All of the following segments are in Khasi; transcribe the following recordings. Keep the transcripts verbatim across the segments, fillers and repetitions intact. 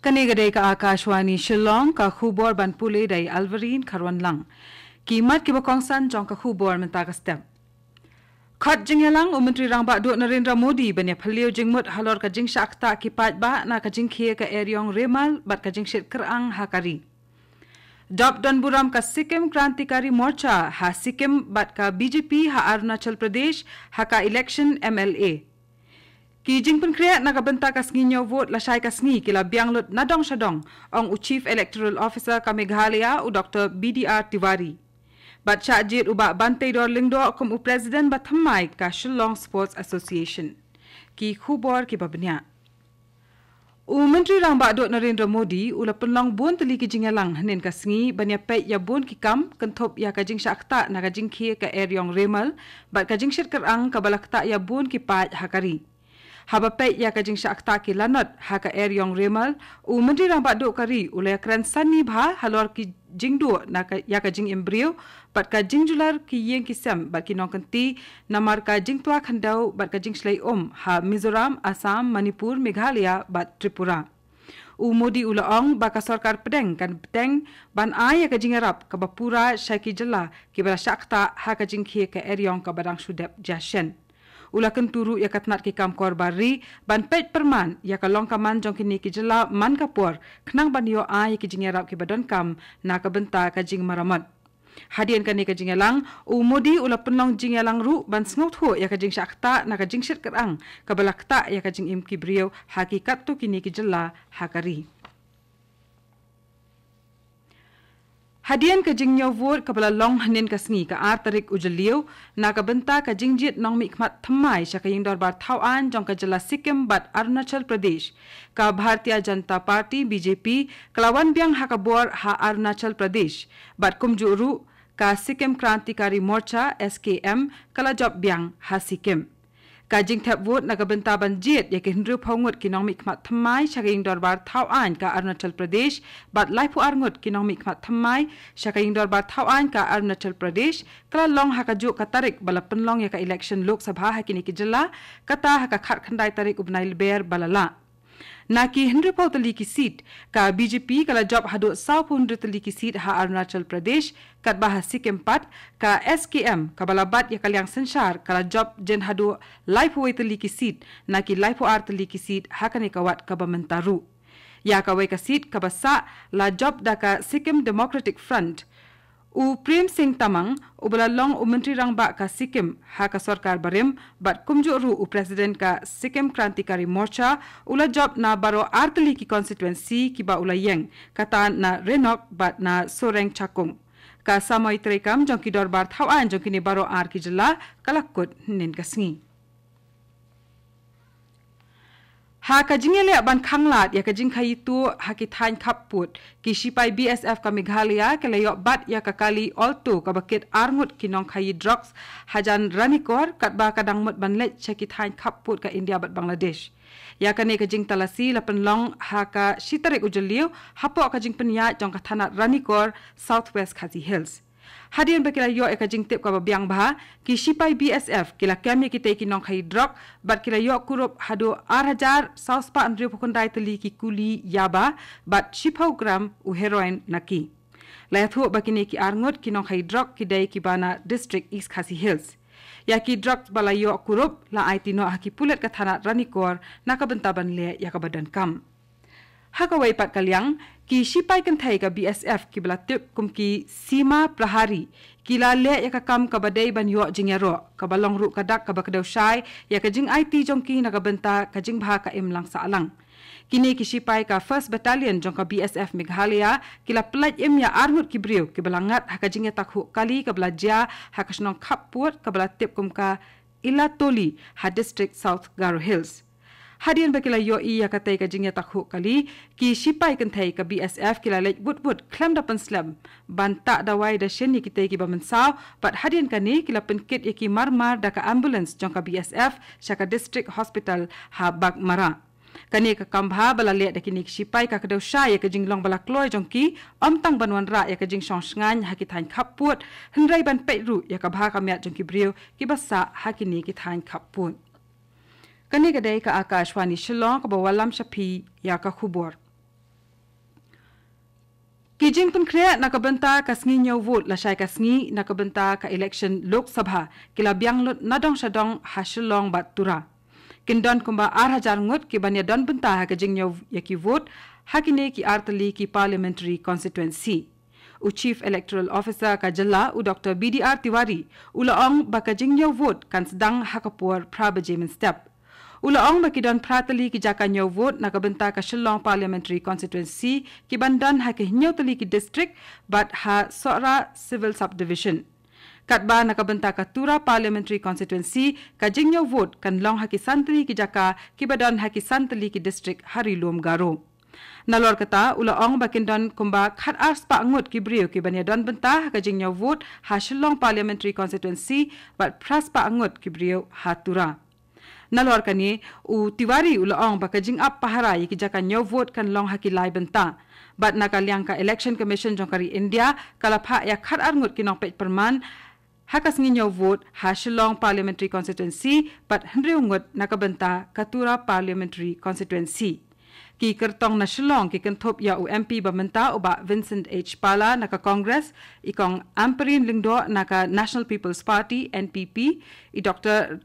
Kane ka dei ka Akashvani Shillong, ka khubor ban pule da i Alvarine Kharwanlang. Ki mat kiba kongsan jong ka khubor mynta ka step. Khot jingïalang u Myntri Rangbah Duh Narendra Modi ban ïa phylliew jingmut halor ka jingshah ktah ki paidbah na ka jingkhie ka eriong Remal bad ka jingshit kyrang ha ka ri. Dop don burom ka Sikkim Krantikari Morcha ha Sikkim bad ka B J P ha Arunachal Pradesh ha ka election M L A. Ki jingpynkhreh na ka bynta ka sngi ñiew vote lashai ka sngi ki la biang lut nadong shadong, ong u Chief Electoral Officer ka Meghalaya u Doctor B D R Tiwari. Bad shah jied u Bah Banteidor Lyngdoh kum u President ba thymmai ka Shillong Sports Association. Ki khubor kiba bniah. U Myntri Rangbah Duh Narendra Modi u la pynlong bun tylli ki jingïalang hynnin ka sngi ban ïa peit ïa bun ki kam kynthup ïa ka jingshah ktah na ka jingkhie ka eriong Remal bad ka jingshit kyrang kaba la ktah ïa bun ki paid ha ka ri. Haba peit ïa ka jingshah ktah ki lanot ha ka eriong Remal, u Myntri Rangbah Duh ka ri u la ïa kren sani bha halor ki jingduh na ka, ïa ka jingim briew bad ka jingjular ki ïing ki sem bad ki nongkynti namar ka jingtwa khyndew bad ka jingshlei um ha Mizoram, Assam, Manipur, Meghalaya bad Tripura. U Modi u la ong ba ka sorkar pdeng kan bteng ban ai ïa ka jingïarap kaba pura sha ki jylla kiba la shah ktah ha ka jingkhie ka eriong kaba dang shu dep jia shen. U la kyntu ruh ïa ka tnat ki kam kor bar ri ban peit pyrman ïa ka long ka man jong kine ki jylla man ka por khnang ban ïoh ai ïa ki jingïarap kiba donkam na ka bynta ka jingmaramot. Hadien kane ka jingïalang, u Modi u la pynlong jingïalang ruh ban sngewthuh ïa ka jingshah ktah na ka jingshit kyrang kaba la ktah ïa ka jingim ki briew ha ki katto kine ki jylla ha ka ri. Hadien ka jingñiew vote kaba la long hynnin ka sngi ka ar tarik u Jylliew, na ka bynta ka jingjied nongmihkhmat thymmai sha ka ïing dorbar thaw aiñ jong ka jylla Sikkim bad Arunachal Pradesh, ka Bharatiya Janata Party, B J P, ka la wan biang ha ka bor ha Arunachal Pradesh bad kumjuh ruh ka Sikkim Krantikari Morcha, S K M, ka la jop biang ha Sikkim. Ka jingthep vote na ka bynta ban jied ïa ki hynriewphew ngut ki nongmihkhmat thymmai sha ka ïing dorbar thaw aiñ ka Arunachal Pradesh bad laiphew ar ngut ki nongmihkhmat thymmai sha ka ïing dorbar thaw aiñ ka Arunachal Pradesh ka la long ha kajuh ka tarik ba la pynlong ïa ka election Lok Sabha ha kine ki jylla, kata ha ka khatkhyndai tarik u bnai Lber ba la lah. Na ki hynriewphew tylli ki seat, ka B J P ka la jop haduh sawphew hynriew tylli ki seat ha Arunachal Pradesh, katba ha Sikkim pat, ka S K M kaba la bat ïa ka liang synshar ka la jop jin haduh laiphew wei tylli ki seat na ki laiphew ar tylli ki seat ha kane ka wad kaba mynta ruh. Ïa kawei ka seat kaba sah la jop da ka Sikkim Democratic Front. U Prem Singh Tamang, uba la long u Myntri Rangbah ka Sikkim ha ka sorkar barim bad kumjuh ruh u President ka Sikkim Krantikari Morcha, u la jop na baroh ar tylli ki constituency kiba u la ïeng, kata na Rhenok bad na Soreng Chakung. Ka samoi treikam jong ki dorbar thaw aiñ jong kine baroh ar ki jylla ka la kut hynnin ka sngi. Ha ka jingïaleh ban khanglad ïa ka jingkhaïi tuh ha ki thaiñ khappud, ki shipai B S F ka Meghalaya ki la ïoh bat ïa ka kali Alto kaba kit ar ngut ki nongkhaïi drugs hajan Ranikor, katba ka dang mut ban leit sha ki thaiñ khappud ka India bad Bangladesh. Ïa kane ka jingtalasi la pynlong ha ka shi tarik u Jylliew hapoh ka jingpynïaid jong ka thanat Ranikor, South West Khasi Hills. Hadien ba ki la ïoh ïa ka jingtip kaba biang bha, ki shipai B S F ki la kem ïa kitei ki nongkhaïi drok bad ki la ïoh kurup haduh ar hajar saw spah hynriewphew khyndai tylli ki kuli yaba bad shiphew gram u heroin na ki. La ïathuh ba kine ki ar ngut ki nongkhaïi drok ki dei kiba na District East Khasi Hills. Ïa ki drok ba la ïoh kurup la aiti noh ha ki pulit ka thanat Ranikor na ka bynta ban leh ïa kaba donkam. Ha kawei pat ka liang, ki shipai kynthei ka B S F kiba la tip kum ki Seema Prahari ki la leh ïa ka kam kaba dei ban ïoh jingïaroh, kaba long ruh ka dak kaba kdew shai ïa ka jingaiti jong ki na ka bynta ka jingbha ka imlang sahlang. Kine ki shipai ka First Battalion jong ka B S F Meghalaya ki la pyllait im ïa ar ngut ki briew kiba la ngat ha ka jingïatakhuh kali kaba la jia ha ka shnong khappud kaba la tip kum ka Ilatoli ha District South Garo Hills. Hadien ba ki la ïohi ïa katei ka jingïatakhuh kali, ki shipai kynthei ka B S F ki la leit wut wut khlem da pynslem ban tah dawai da shen ïa kitei kiba mynsaw, bad hadien kane ki la pynkit ïa ki marmar da ka ambulance jong ka B S F sha ka District Hospital ha Baghmara. Kane ka kam bha ba la leh da kine ki shipai ka kdew shai ïa ka jinglong ba la kloi jong ki, ym tang ban wanrah ïa ka jingshong shngaiñ ha ki thaiñ khappud, hynrei ban peit ruh ïa ka bha ka miat jong ki briew kiba sah ha kine ki thaiñ khappud. Kane ka dei ka Akashvani Shillong kaba wallam sha phi ïa ka khubor. Ki jingpynkhreh na ka bynta ka sngi ñiew vote lashai ka sngi na ka bynta ka election Lok Sabha ki la biang lut na dong sha dong ha Shillong bad Tura. Kin don kumba ar hajar ngut ki ban ïa don bynta ha ka jingñiew ïa ki vote ha kine ki artylli ki parliamentary constituency. U Chief Electoral Officer ka jylla, u Doctor B D R Tiwari, u la ong ba ka jingñiew vote kan sdang ha ka por phra baje mynstep. U la ong ba ki don phra tylli ki jaka ñiew vote na ka bynta ka Shillong Parliamentary Constituency, ki ban don ha ki hynñiew tylli ki district bad ha Sohra Civil Subdivision. Katba na ka bynta ka Tura Parliamentary Constituency, ka jingñiew vote kan long ha ki san tylli ki jaka kiba don ha ki san tylli ki district ha Ri Lum Garo. Nalor kata, u la ong ba kin don kumba khat ar spah ngut ki briew ki ban ïa don bynta ha ka jingñiew vote ha Shillong Parliamentary Constituency bad phra spah ngut ki briew ha Tura. Nalor kane, u Tiwari u la ong ba ka jingap pahara ïa ki jaka ñiew vote kan long ha ki lai bynta. Bad na ka liang ka Election Commission jong ka ri India ka la phah ïa khat ar ngut ki nongpeit pyrman ha ka sngi ñiew vote ha Shillong Parliamentary Constituency bad hynriew ngut na ka bynta ka Tura Parliamentary Constituency. Ki kyrtong na Shillong ki kynthup ïa u M P ba mynta u Bah Vincent H Pala na ka Congress, i Kong Ampareen Lyngdoh na ka National People's Party, N P P, i Doctor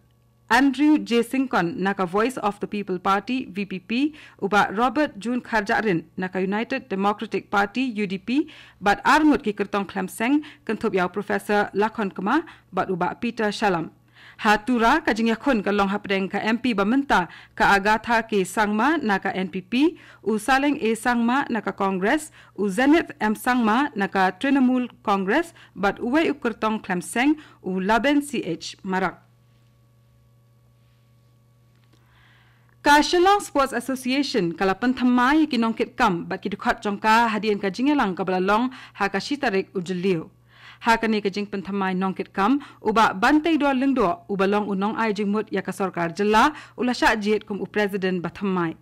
Andrew J Syngkon na ka Voice of the People Party, V P P, u Bah Robert June Kharjahrin na ka United Democratic Party, U D P, bad ar ngut ki kyrtong khlem seng kynthup ïa u Professor Lakhon Kma bad u Bah Peter Shallam. Ha Tura, ka jingïakhun ka long hapdeng ka M P ba mynta ka Agatha K Sangma na ka N P P, u Saleng A Sangma na ka Congress, u Zenith M Sangma na ka Trinamool Congress bad uwei u kyrtong khlem seng, u Laben C H Marak. Ka Shillong Sports Association ka la pynthymmai ïa ki nongkitkam bad ki dkhot jong ka hadien ka jingïalang kaba la long ha ka shi tarik u Jylliew. Ha kane ka jingpynthymmai nongkitkam, u Bah Banteidor Lyngdoh, uba long u nongai jingmut ïa ka sorkar jylla, u la shah jied kum u president ba thymmai.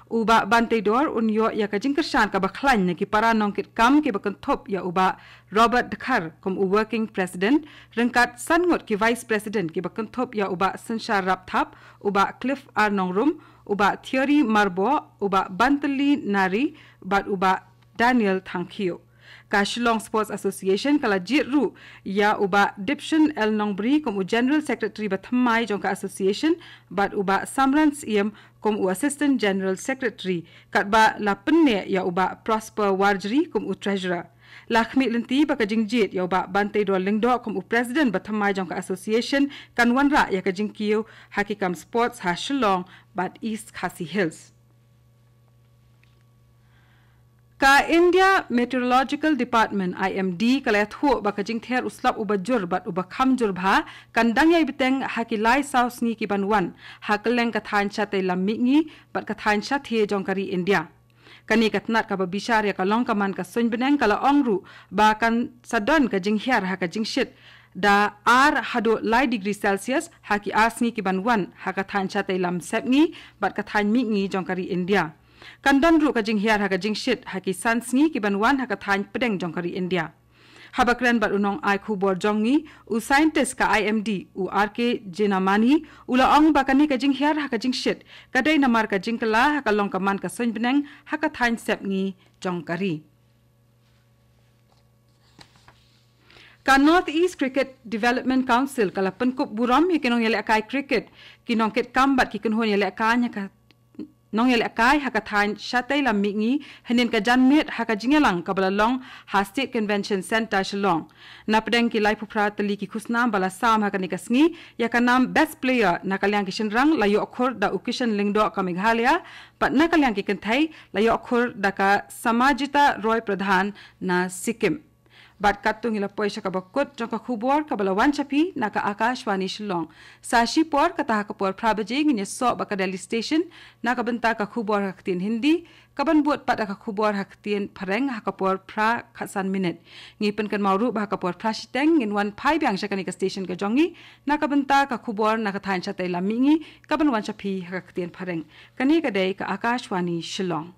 U Bah Banteidor un ïoh ïa ka jingkyrshan kaba khlaiñ na ki para nongkitkam kiba kynthup ïa u Bah Robert Dkhar kum u working president, ryngkat san ngut ki vice president kiba kynthup ïa u Bah Synshar Rapthap, u Bah Cliff R Nongrum, u Bah Thierry Marboh, u Bah Bantylli Nari bad u Bah Daniel Thangkhiew. Ka Shillong Sports Association ka la jied ruh ïa u Bah Dipshin L Nongbri kum u General Secretary ba thymmai jong ka association bad u Bah Samran Syiem kum u Assistant General Secretary, katba la pynneh ïa u Bah Prosper Warjri kum u Treasurer. La khmih lynti ba ka jingjied ïa u Bah Banteidor Lyngdoh kum u President ba thymmai jong ka association kan wanrah ïa ka jingkiew ha ki kam sports ha Shillong bad East Khasi Hills. Ka India Meteorological Department, I M D, ka la ïathuh ba ka jingther u slap uba jur bad uba kham jur bha kan dang ïai bteng ha ki lai saw sngi ki ban wan ha kylleng ka thaiñ shatei lam mihngi bad ka thaiñ shathie jong ka ri India. Kane ka tnat kaba bishar ïa ka long ka man ka suiñ bneng ka la ong ruh ba kan sa don ka jinghiar ha ka jingshit da ar haduh lai degree Celsius ha ki ar sngi ki ban wan ha ka thaiñ shatei lam sepngi bad ka thaiñ mihngi jong ka ri India. Kan don ruh ka jinghiar ha ka jingshit ha ki san sngi ki ban wan ha ka thaiñ pdeng jong ka ri India. Haba kren bad u nongai khubor jong ngi, u scientist ka I M D, u R K Jenamani, u la ong ba kane ka jinghiar ha ka jingshit ka dei namar ka jingkylla ha ka long ka man ka suiñ bneng ha ka thaiñ sepngi jong ka ri. Ka North East Cricket Development Council ka la pynkup burom ïa ki nongïalehkai cricket, ki nongkitkam bad ki kynhun ïalehkai ha ka nongïalehkai ha ka thaiñ shatei lam mihngi hynnin ka janmiet ha ka jingïalang kaba la long ha State Convention Centre Shillong. Na pdeng ki laiphew phra tylli ki khusnam ba la sam ha kane ka sngi, ïa ka nam Best Player na ka liang ki shynrang la ïoh khur da u Kishan Lyngdoh ka Meghalaya, bad na ka liang ki kynthei la ïoh khur da ka Samajita Roy Pradhan na Sikkim. Bad katto ngi la poi sha kaba kut jong ka khubor kaba la wan sha phi na ka Akashvani Shillong. Sa shi por, kata ha ka por phra baje ngin ïasoh bad ka Delhi Station na ka bynta ka khubor ha ka ktien Hindi, kaban bud pat da ka khubor ha ka ktien Phareng ha ka por phra khatsan minit. Ngi pynkynmaw ruh ba ha ka por phra shiteng ngin wan phai biang sha kane ka station ka jong ngi na ka bynta ka khubor na ka thaiñ shatei lam mihngi kaban wan sha phi ha ka ktien Phareng. Kane ka dei ka Akashvani Shillong.